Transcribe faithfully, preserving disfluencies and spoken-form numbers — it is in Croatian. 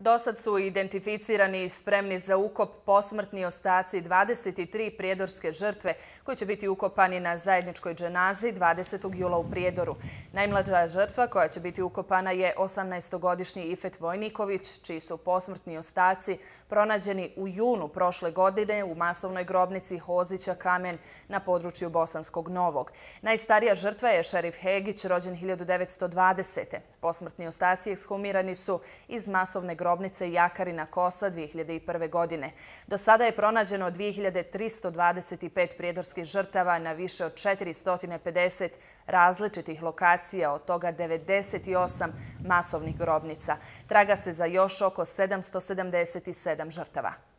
Dosad su identificirani i spremni za ukop posmrtni ostaci dvadeset tri prijedorske žrtve koji će biti ukopani na zajedničkoj dženazi dvadesetog jula u Prijedoru. Najmlađa žrtva koja će biti ukopana je osamnaestogodišnji Ifet Vojniković, čiji su posmrtni ostaci pronađeni u junu prošle godine u masovnoj grobnici Hozića Kamen na području Bosanskog Novog. Najstarija žrtva je Šerif Hegić, rođen hiljadu devetsto dvadesete. Posmrtni ostaci ekshumirani su iz masovne grobnice Jakarina Kosa dvije hiljade prve. godine. Do sada je pronađeno dvije hiljade tristo dvadeset pet prijedorskih žrtava na više od četiristo pedeset različitih lokacija, od toga devedeset osam masovnih grobnica. Traga se za još oko sedamsto sedamdeset sedam žrtava.